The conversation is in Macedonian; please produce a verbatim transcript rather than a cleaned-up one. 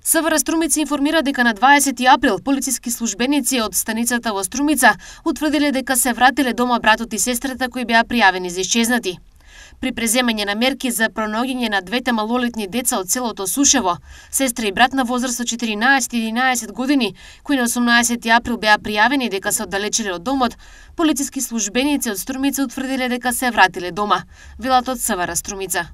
СВР Струмица информира дека на дваесети април полициски службеници од станицата во Струмица утврдиле дека се вратиле дома братот и сестрата кои беа пријавени за исчезнати. При преземање на мерки за пронаоѓање на двете малолетни деца од селото Сушево, сестра и брат на возраст од четиринаесет и единаесет години, кои на осумнаесети април беа пријавени дека се оддалечиле од домот, полициски службеници од Струмица утврдиле дека се вратиле дома, велат од СВР Струмица.